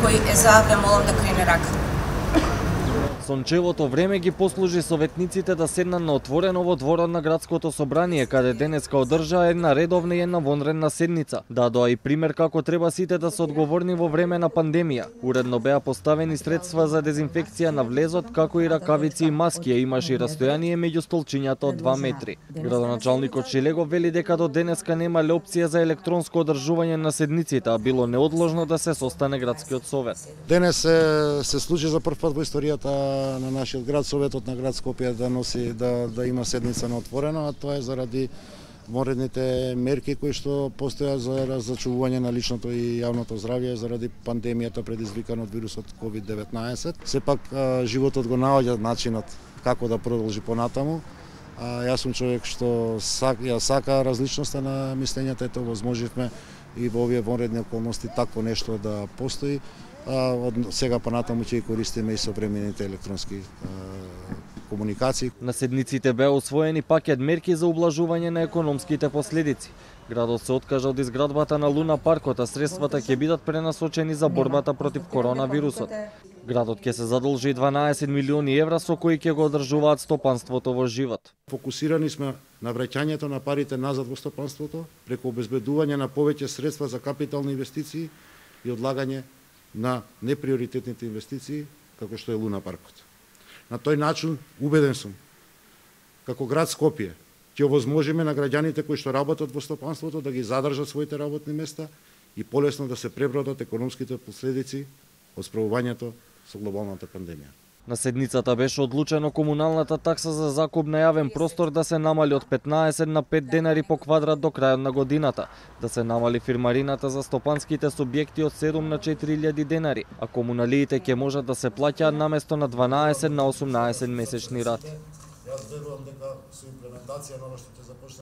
кој е за, ве молам да крене рака. Сончевото време ги послужи советниците да седнат на отворено во дворот на градското собрание, каде денеска одржаа една редовна и една вонредна седница. Дадоа и пример како треба сите да се одговорни во време на пандемија. Уредно беа поставени средства за дезинфекција на влезот, како и ракавици и маски, а имаше и растојание меѓу столчињата од 2 метри. Градоначалникот Шелегов вели дека до денеска немале опција за електронско одржување на седниците, а било неодложно да се состане градскиот совет. Денес се случи за прв пат во историјата на нашиот град, Советот на град Скопје да има седница на отворено, а тоа е заради вонредните мерки кои што постојат за зачувување на личното и јавното здравје заради пандемијата предизвикана од вирусот COVID-19. Сепак животот го наоѓа начинот како да продолжи понатаму. Јас сум човек што сака различноста на мислењата, ето возможивме и во овие вонредни околности такво нешто да постои. Од сега понатаму ќе користиме и современите електронски комуникации. На седниците беа усвоени пакет мерки за ублажување на економските последици. Градот се откажа од изградбата на Луна паркот, а средствата ќе бидат пренасочени за борбата против коронавирусот. Градот ќе се задолжи 12 милиони евра со кои ќе го одржуваат стопанството во живот. Фокусирани сме на враќањето на парите назад во стопанството преку обезбедување на повеќе средства за капитални инвестиции и одлагање на неприоритетните инвестиции, како што е Луна паркот. На тој начин, убеден сум, како град Скопје, ќе овозможиме на граѓаните кои што работат во стопанството да ги задржат своите работни места и полесно да се пребродат економските последици од справувањето со глобалната пандемија. На седницата беше одлучено комуналната такса за закуп на јавен простор да се намали од 15 на 5 денари по квадрат до крајот на годината, да се намали фирмарината за стопанските субјекти од 7 на 4000 денари, а комуналиите ќе можат да се плаќаат наместо на 12 на 18 месечни рати. Јас верувам дека со имплементација на ова што ќе започне